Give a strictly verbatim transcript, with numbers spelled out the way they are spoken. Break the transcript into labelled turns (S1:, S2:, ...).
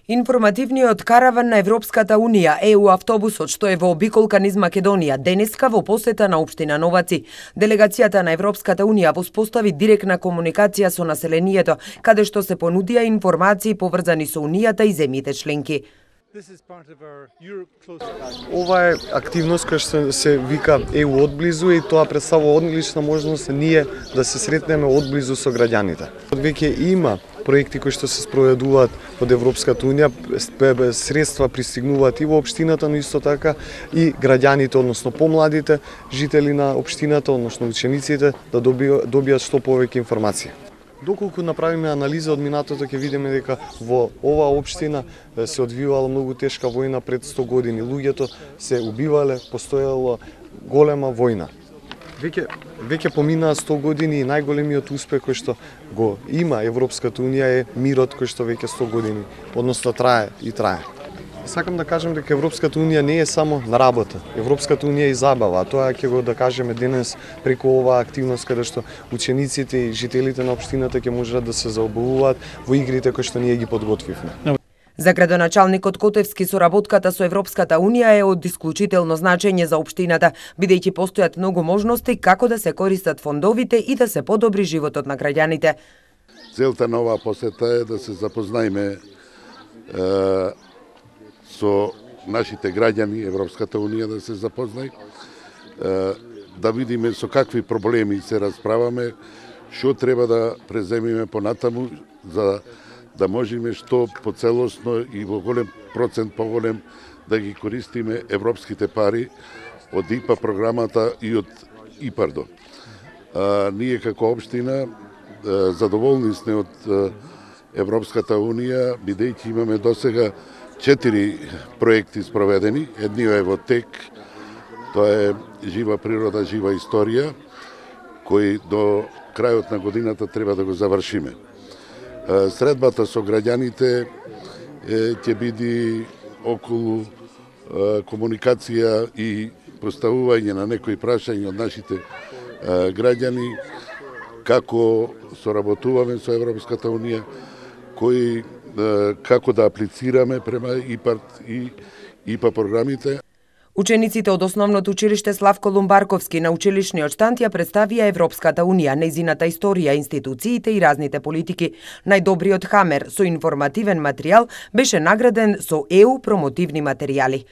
S1: Информативниот караван на Европската Унија, Е У автобусот, што е во обиколка низ Македонија, денеска во посета на општина Новаци. Делегацијата на Европската Унија воспостави директна комуникација со населението, каде што се понудија информации поврзани со Унијата и земјите членки.
S2: Ова е активност која што се вика Е У одблизу и тоа представува одлична можност ние да се сретнеме одблизу со граѓаните. Веќе има проекти кои што се спроведуваат од Европската Унија, средства пристигнуваат и во општината, но исто така и граѓаните, односно помладите жители на општината, односно учениците, да добијат, добијат што повеќе информација. Доколку направиме анализа од минатото, ќе видиме дека во оваа општина се одвивала многу тешка војна пред сто години. Луѓето се убивале, постоела голема војна. Веќе веќе поминаа сто години и најголемиот успех кој што го има Европската Унија е мирот кој што веќе сто години, односно трае и трае. Сакам да кажам дека Европската Унија не е само на работа. Европската Унија е и забава, а тоа ќе го да кажеме денес преку оваа активност каде што учениците и жителите на општината ќе можат да се заобавуваат во игрите кои што ние ги подготвивме.
S1: За градоначалникот Котевски соработката со Европската Унија е од исклучително значење за општината, бидејќи постојат многу можности како да се користат фондовите и да се подобри животот на граѓаните.
S3: Целта на оваа посета е да се запознаеме е, со нашите граѓани, Европската Унија да се запознај, е, да видиме со какви проблеми се расправаме, што треба да преземиме понатаму за да можеме што поцелосно и во голем процент поголем да ги користиме европските пари од И П А програмата и од ИПАРДО. А, ние како општина а, задоволни сме од а, Европската Унија, бидејќи имаме досега четири проекти спроведени. Едниот е во тек, тоа е Жива природа, жива историја, кој до крајот на годината треба да го завршиме. Средбата со граѓаните ќе биде околу комуникација и поставување на некои прашања од нашите граѓани, како соработуваме со Европската Унија, кои како да аплицираме према ИПАРД и И П А програмите.
S1: Учениците од Основното училиште Славко Лумбарковски на училишниот штанд ја представија Европската Унија, нејзината историја, институциите и разните политики. Најдобриот хамер со информативен материјал беше награден со Е У промотивни материјали.